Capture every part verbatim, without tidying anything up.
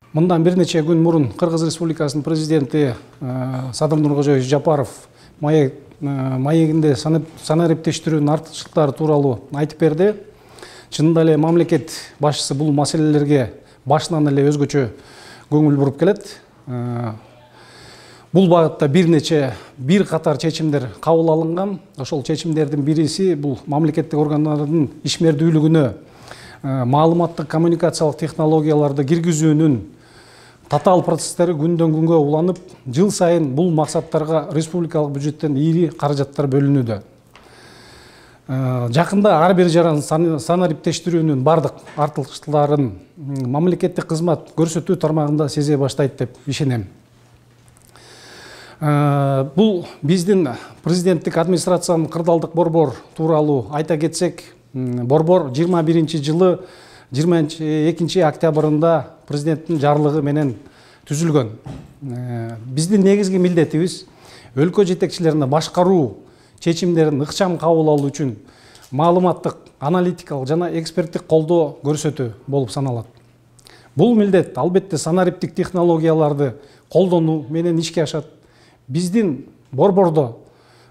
Мындан бир нече күн мурун Кыргыз Республикасынын президенти Садыр Нуркожоевич Жапаров маегинде санариптештирүүнүн артыкчылыктары тууралуу айтып берди. Чынында эле мамлекет башчысы бул маселелерге башынан эле өзгөчө көңүл буруп келет. Бул багытта бир нече бир катар чечимдер кабыл алынган. Ошол чечимдердин бириси бул мамлекеттик органдардын ишмердүүлүгүнө маалыматтык коммуникациялык технологияларды киргизүүнүн татаал процесстери күндөн күнгө уланып, жыл сайын бул максаттарга республикалык бюджеттен ийри каражаттар бөлүнүүдө. Жакында ар бир жаран санариптештирүүнүн бардык артыкчылыктарын мамлекеттик кызмат көрсөтүү тармагында сезе баштайт деп ишенем. Бул биздин президенттик администрациянын кырдаалдык борбор тууралуу айта кетсек, борбор жыйырма биринчи жылы жыйырма экинчи октябрында президенттин жарлыгы менен түзүлгөн. Биздин негизги милдетибиз өлкө жетекчилерине башкаруу чечимдерин ыкчам кабыл алуу үчүн маалыматтык, аналитикалык жана эксперттик колдоо көрсөтүү болуп саналат. Бул милдет албетте санариптик технологияларды колдонуу менен ишке ашат. Биздин борбордо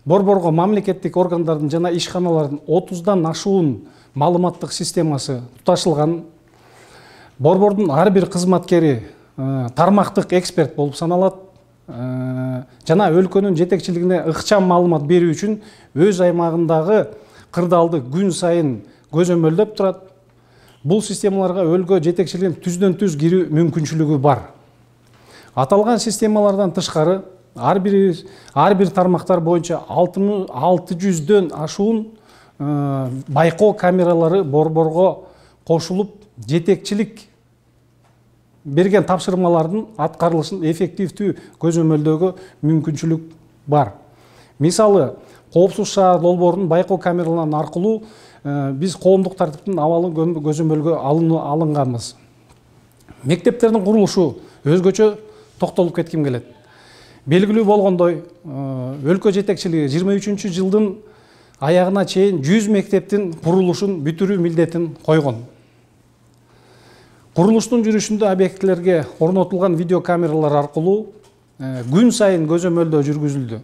борборго мамлекеттик органдардын жана ишканалардын отуздан ашуун маалыматтык системасы туташылган. Борбордун ар бир кызматкери тармактык эксперт болуп саналат. Жана өлкөнүн жетекчилигине ыкчам маалымат берүү үчүн өз аймагындагы кырдаалды күн сайын көзөмөлдөп турат. Бул системаларга өлкө жетекчилигинин түздөн түз кирүү мүмкүнчүлүгү бар. Аталган системалардан тышкары ар бир ар бир тармактар боюнча алты жүздөн ашуун байкоо камералары борборго кошулуп, жетекчилик берген тапшырмалардын аткарылышын эффективдүү көзөмөлдөөгө мүмкүнчүлүк бар. Мисалы, коопсуз шаар долбоорунун байкоо камераларынан аркылуу биз коомдук тартиптин абалын көзөмөлгө алынганбыз. Мектептердин курулушу өзгөчө токтолуп кетким келет. Белгилүү болгондой, өлкө жетекчилиги жыйырма үчүнчү жылдын аягына чейин жүз мектептин курулушун бүтүрүү милдетин койгон. Курулуштун жүрүшүндө объектилерге орнотулган видеокамералар аркылуу күн сайын көзөмөлдөө жүргүзүлдү.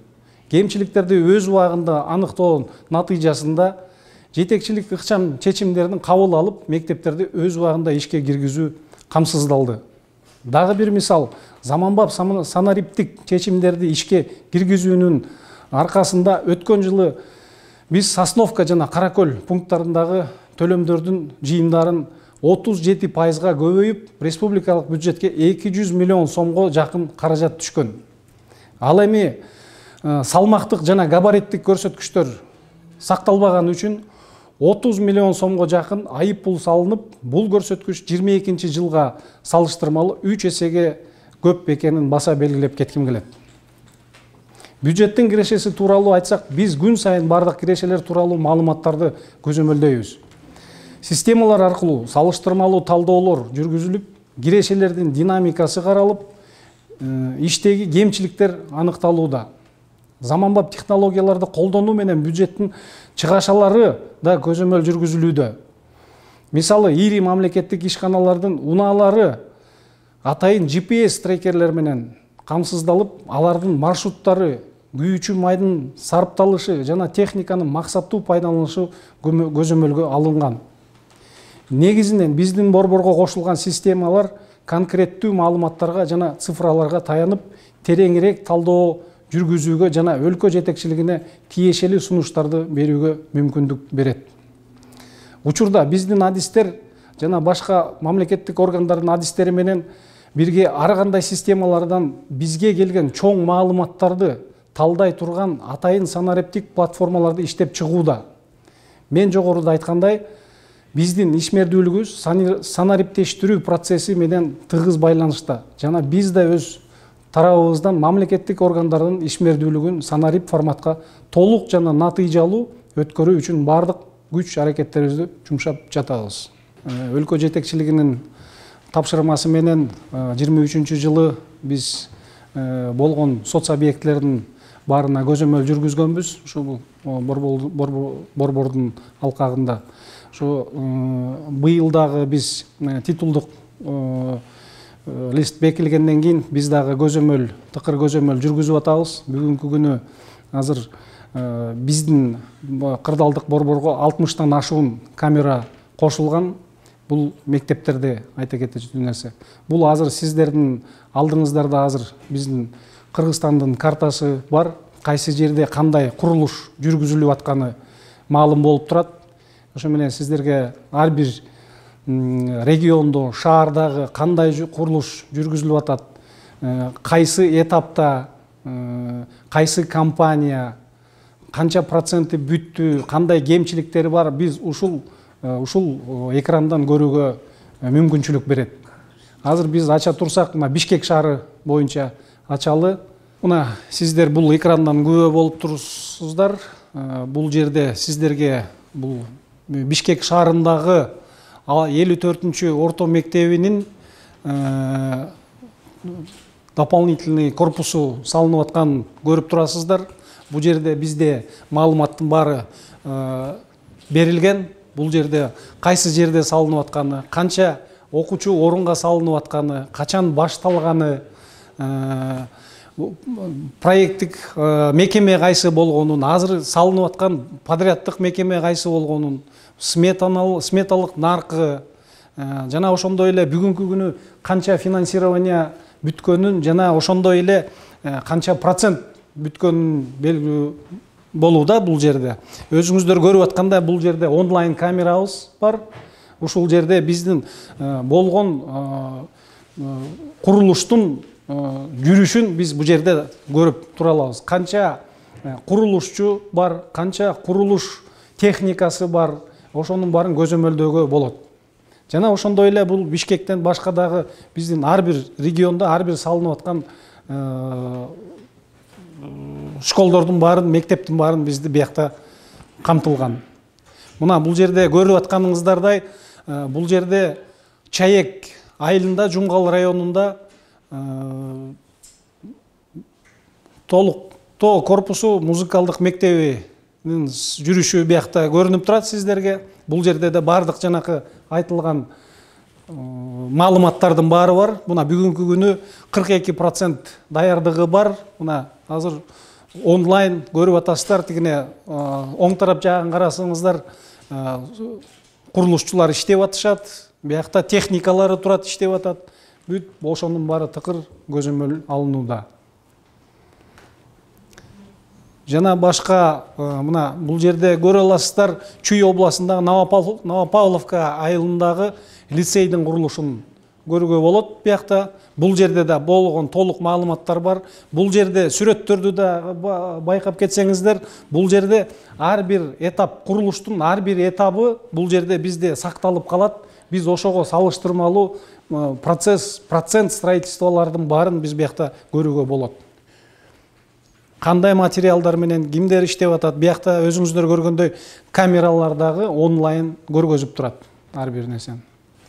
Кемчиликтерди өз убагында аныктоонун натыйжасында жетекчилик ыкчам чечимдерин кабыл алып, мектептерди өз убагында ишке киргизүү камсыздалды. Дагы бир мисал, заманбап санариптик чечимдерди ишке киргизүүнүн аркасында өткөн жылы биз Сосновка жана Каракөл пункттарындагы төлөмдөрдүн жыйымдарын отуз жети пайызга көбөйүп, республикалык бюджетке эки жүз миллион сомго жакын каражат түшкөн. Ал эми салмактык жана габариттик көрсөткүчтөр сакталбаган үчүн отуз миллион сомго жакын айып пул салынып, бул көрсөткүч жыйырма экинчи жылга салыштырмалуу үч эсеге көп экенин баса белгилеп кетким келет. Бюджеттин кирешеси тууралуу айтсак, биз күн сайын бардык кирешелер тууралуу маалыматтарды көзөмөлдөйбүз. Системалар аркылуу салыштырмалуу талдоолор жүргүзүлүп, кирешелердин динамикасы каралып, иштеги кемчиликтер аныкталууда. Заманбап технологияларды колдонуу менен бюджеттин чыгашалары да көзөмөл жүргүзүлүүдө. Мисалы, ири мамлекеттик ишканалардын унаалары атайын джи пи эс трекерлер менен камсыздалып, алардын маршруттары, күйүүчү майдын сарпталышы жана техниканын максаттуу пайдаланышы көзөмөлгө алынган. Негизинен биздин борборго кошулган системалар конкреттүү маалыматтарга жана цифраларга таянып, тереңирээк талдоо жүргүзүүгө жана өлкө жетекчилигине тиешелүү сунуштарды берүүгө мүмкүндүк берет. Учурда биздин адистер жана башка мамлекеттик органдардын адистери менен бирге ар кандай системалардан бизге келген чоң маалыматтарды талдай турган атайын санариптик платформаларды иштеп чыгууда. Мен жогоруда айткандай, биздин ишмердүүлүгүбүз санариптештирүү процесси менен тыгыз байланышта жана биз да өз тарабыбыздан мамлекеттик органдардын ишмердүүлүгүн санарип форматка толук жана натыйжалуу өткөрүү үчүн бардык күч аракеттерибизди жумшап жатабыз. Өлкө жетекчилигинин тапшырмасы менен жыйырма үчүнчү жылы биз болгон соц объектилердин баарына көзөмөл жүргүзгөнбүз. Ушул борбордун алкагында. Ошо быйыл дагы биз титулдук лист бекилгенден кийин биз дагы көзөмөл, тыкыр көзөмөл жүргүзүп атабыз. Бүгүнкү күнү азыр биздин кырдаалдык борборго алтымыштан ашуун камера кошулган. Бул мектептерде айта кетчү нерсе. Бул азыр сиздердин алдыңыздарда азыр биздин Кыргызстандын картасы бар. Кайсы жерде кандай курулуш жүргүзүлүп атканы маалым болуп турат. Ошо менен сиздерге ар бир региондо, шаардагы кандай курулуш жүргүзүлүп атат, кайсы этапта, кайсы компания, канча проценти бүттү, кандай кемчиликтери бар, биз ушул ушул экрандан көрүүгө мүмкүнчүлүк берет. Азыр биз ача турсак, мына Бишкек шаары боюнча ачалы. Мына сиздер бул экрандан күбө болуп турсуздар. Бул жерде сиздерге бул Бишкек шаарындагы элүү төртүнчү орто мектебинин дополнительный корпусу салынып атканын көрүп турасыздар. Бул жерде бизде маалыматтын баары берилген. Бул жерде кайсы жерде салынып атканы, канча окуучу орунга салынып атканы, качан башталганы, проекттик мекеме кайсы болгонун, азыр салынып аткан подряддык мекеме кайсы болгонун, сметалык наркы, жана ошондой эле бүгүнкү күнү канча финансирование бүткөнүн, жана ошондой эле канча процент бүткөнүн белгилүү болууда. Бул жерде өзүңүздөр көрүп аткандай, бул жерде онлайн камерабыз бар. Ушул жерде биздин болгон курулуштун жүрүшүн биз бул жерде көрүп тура алабыз. Канча курулушчу бар, канча курулуш техникасы бар, ошонун баарын көзөмөлдөөгө болот. Жана ошондой эле бул Бишкектен башка дагы биздин ар бир региондо ар бир салынып аткан школдордун баарын, мектептин баарын бизди биякта камтылган. Мына бул жерде көрүп атканыңыздардай, бул жерде Чаек айылында, Жумгал районунда толуктоо корпусу музыкалдык мектебинин жүрүшү биякта көрүнүп турат сиздерге. Бул жерде да бардык жанакы айтылган маалыматтардын баары бар. Мына бүгүнкү күнү кырк эки процент даярдыгы бар. Мына азыр онлайн көрүп атасыздар. Тигине оң тарап жагын карасаңыздар, курулушчулар иштеп атышат. Биякта техникалары турат, иштеп атат. Бүт ошонун баары тыкыр көзөмөл алынууда. Жана башка мына бул жерде көрө аласыздар, Чүй областындагы Новопавловка айылындагы лицейдин курулушун көрүүгө болот. Биякта бул жерде да болгон толук маалыматтар бар. Бул жерде сүрөттөрдү да байкап кетсеңиздер, бул жерде ар бир этап, курулуштун ар бир этабы бул жерде бизде сакталып калат. Биз ошого салыштырмалуу процесс, процент строительстволордун баарын биз биякта көрүүгө болот. Кандай материалдар менен кимдер иштеп атат, биякта өзүңүздөр көргөндөй камералар дагы онлайн көргөзүп турат ар бир нерсени.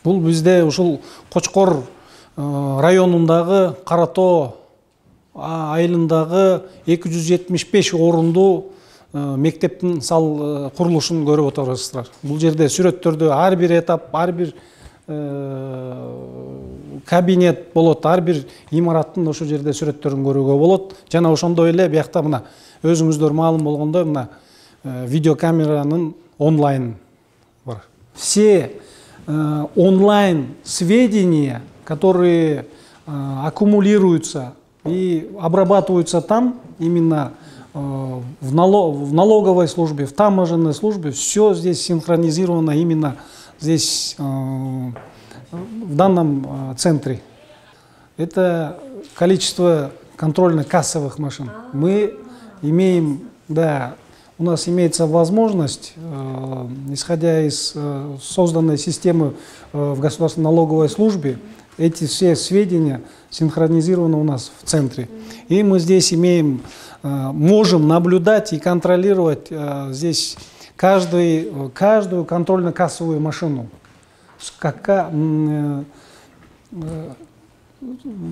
Бул бизде ушул Кочкор районундагы Кара Тоо айылындагы эки жүз жетимиш беш орундуу мектептин сал курулушун көрүп отурасыздар. Бул жерде сүрөттөрдө ар бир этап, ар бир кабинет болот, ар бир имараттын ошол жерде сүрөттөрүн көрүүгө болот. Жана ошондой эле биякта мына өзүңүздөр маалым болгондой мына видеокамеранын онлайн бар. Все онлайн сведения, которые аккумулируются и обрабатываются там, именно в налоговой службе, в таможенной службе, все здесь синхронизировано именно здесь, в данном центре. Это количество контрольно-кассовых машин. Мы имеем, да, у нас имеется возможность, исходя из созданной системы в государственной налоговой службе, эти все сведения синхронизированы у нас в центре. И мы здесь имеем, можем наблюдать и контролировать здесь каждый, каждую контрольно-кассовую машину. Как,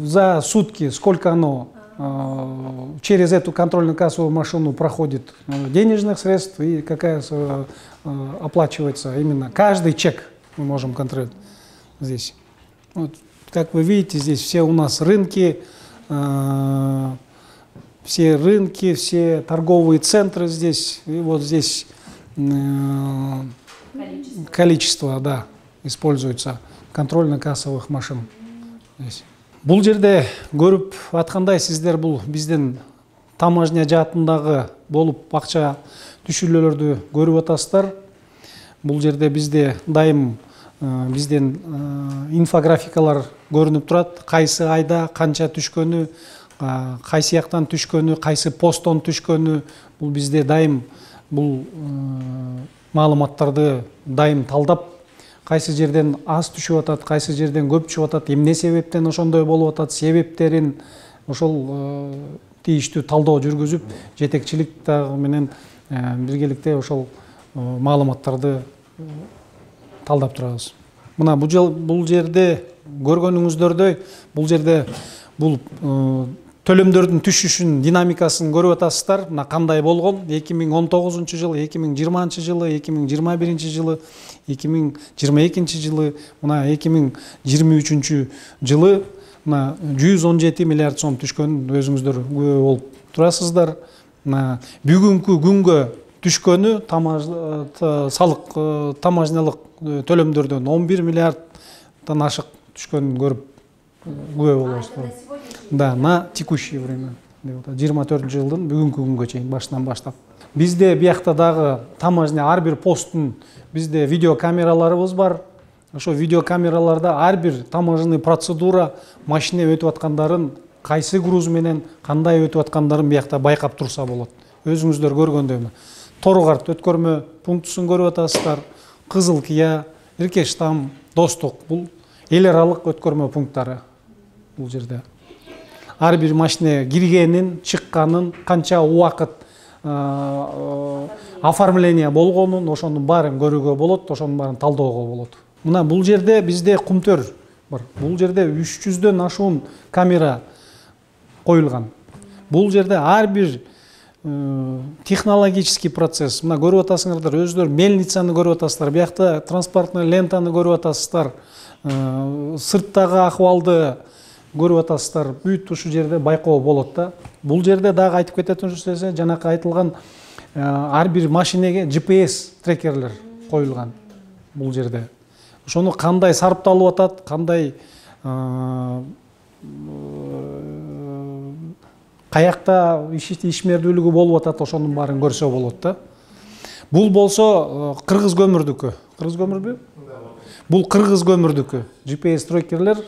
за сутки сколько оно через эту контрольно-кассовую машину проходит денежных средств и какая оплачивается именно. Каждый чек мы можем контролировать здесь. Вот. как вы видите, здесь все у нас рынки, все рынки, все торговые центры здесь. И вот здесь количество, количество да, используется контрольно-кассовых машин. Здесь. Бул жерде көрүп аткандай сиздер бул биздин таможня жаатындагы болуп акча түшүрүүлөрдү көрүп атасыздар. Бул жерде бизде дайым бизден инфографикалар көрүнүп турат. Кайсы айда канча түшкөнү, кайсы жактан түшкөнү, кайсы посттон түшкөнү. Бул бизде дайым бул маалыматтарды дайым талдап, кайсы жерден аз түшүп атат, кайсы жерден көп түшүп атат, эмне себептен ошондой болуп атат, себептерин ошол тийиштүү талдоо жүргүзүп, жетекчилик дагы менен биргеликте ошол маалыматтарды талдап турабыз. Мына бул жерде көргөнүңүздөрдөй, бул жерде бул төлөмдөрдүн түшүшүнүн динамикасын көрүп атасыздар. Мына кандай болгон эки миң он тогузунчу жыл, эки миң жыйырманчы жылы, эки миң жыйырма биринчи жылы, эки миң жыйырма экинчи жылы, мына эки миң жыйырма үчүнчү жылы мына жүз он жети миллиард сом түшкөнүн өзүңүздөр күбө болуп турасыздар. Мына бүгүнкү күнгө түшкөнү салык таможнялык төлөмдөрдөн он бир миллиарддан ашык түшкөнүн көрүп күбө болосуздар. Да, на текущее время. жыйырма төртүнчү жылдын бүгүнкү күнгө чейин башынан баштап. Бизде биякта дагы таможня ар бир посттун бизде видеокамераларыбыз бар. Ошо видеокамераларда ар бир таможенный процедура машина өтүп аткандарын, кайсы груз менен кандай өтүп аткандарын биякта байкап турса болот. Өзүңүздөр көргөндөй. Торгарт өткөрмө пунктусун көрүп атасыздар. Кызыл Кия, Иркештам, Достук бул эл аралык өткөрмө пункттары бул жерде. Ар бир машина киргенин, чыкканын, канча убакыт оформление болгонун, ошонун баарын көрүүгө болот, ошонун баарын талдоого болот. Мына бул жерде бизде кумтөр бар. Бул жерде үч жүздөн ашуун камера коюлган. Бул жерде ар бир технологический процесс. Мына көрүп атасыңардар, өзүлөр мельницаны көрүп атасыздар, биякта транспортный лентаны көрүп атасыздар, сырттагы акыбалды көрүп атасыздар. Бүт ушул жерде байкоо болот да. Бул жерде дагы айтып кететін жүрсөсө, жанакы айтылган ар бир машинеге джи пи эс трекерлер коюлган бул жерде. Ошону кандай сарпталып атат, кандай каякта ишмердүүлүгү болуп атат, ошонун баарын көрсө болот да. Бул болсо кыргыз көмүрдүкү. Кыргыз көмүрбү? Бул кыргыз көмүрдүкү. джи пи эс трекерлер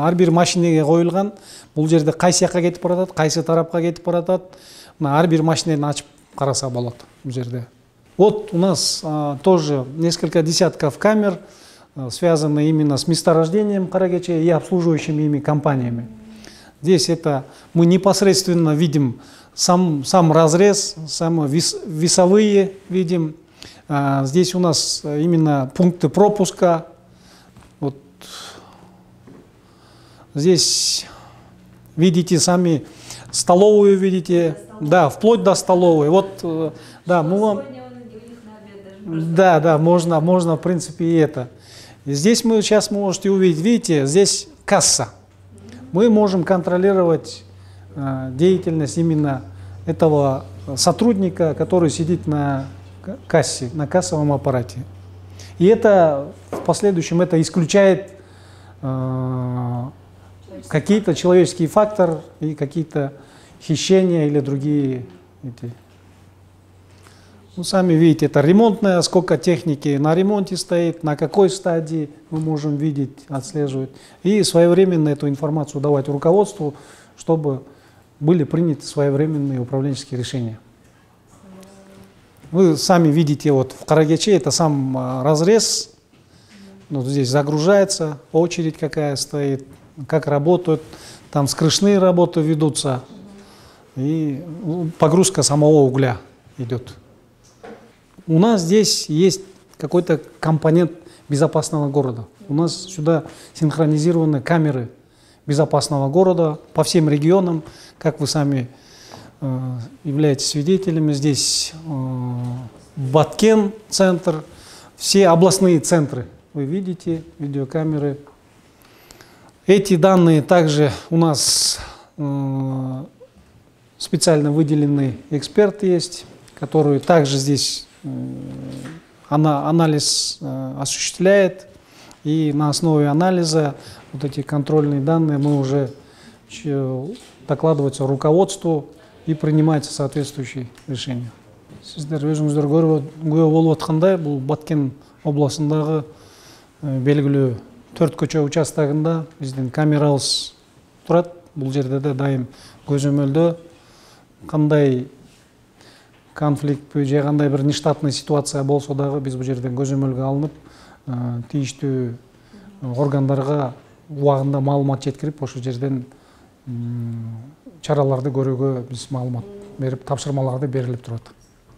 ар бир машинеге коюлган. Бул жерде кайсы жакка кетип баратат, кайсы тарапка кетип баратат. Мына ар бир машинени ачып караса болот бул жерде. Вот у нас а, тоже несколько десятков камер, а, связаны именно с месторождением Каракечи и обслуживающими ими компаниями. Здесь это мы непосредственно видим сам, сам разрез, сам вес, весовые видим. А, здесь у нас именно пункты пропуска. Вот. Здесь видите сами столовую, видите, да, вплоть до столовой. Вот, да, мы вам... Да, да, можно, можно, в принципе, и это. И здесь мы сейчас можете увидеть, видите, здесь касса. Мы можем контролировать э, деятельность именно этого сотрудника, который сидит на кассе, на кассовом аппарате. И это в последующем это исключает э, какие-то человеческие факторы и какие-то хищения или другие эти. Ну, сами видите, это ремонтная, сколько техники на ремонте стоит, на какой стадии мы можем видеть, отслеживать. И своевременно эту информацию давать руководству, чтобы были приняты своевременные управленческие решения. Вы сами видите, вот в Каракечи это сам разрез, вот здесь загружается, очередь какая стоит, как работают, там скрышные работы ведутся, и погрузка самого угля идет. У нас здесь есть какой-то компонент безопасного города. У нас сюда синхронизированы камеры безопасного города по всем регионам, как вы сами э, являетесь свидетелями. Здесь э, Баткен центр, все областные центры. Вы видите видеокамеры. Эти данные также у нас э, специально выделенный эксперт есть, который также здесь э, ана, анализ э, осуществляет. И на основе анализа вот эти контрольные данные мы уже докладываются руководству и принимается соответствующие решения. Сиздер өзүңүздөр күбө болуп аткандай, бул Баткен областындагы белгилүү төрт көчө участогунда биздин камерабыз турат. Бул жерде де дайым көзөмөлдө кандай конфликт же кандай бир нештатный ситуация болсо дагы биз бул жерден көзөмөлгө алынып, тийиштүү органдарга убагында маалымат жеткирип, ошол жерден чараларды көрүүгө биз маалымат берип, тапшырмаларды берилип турат.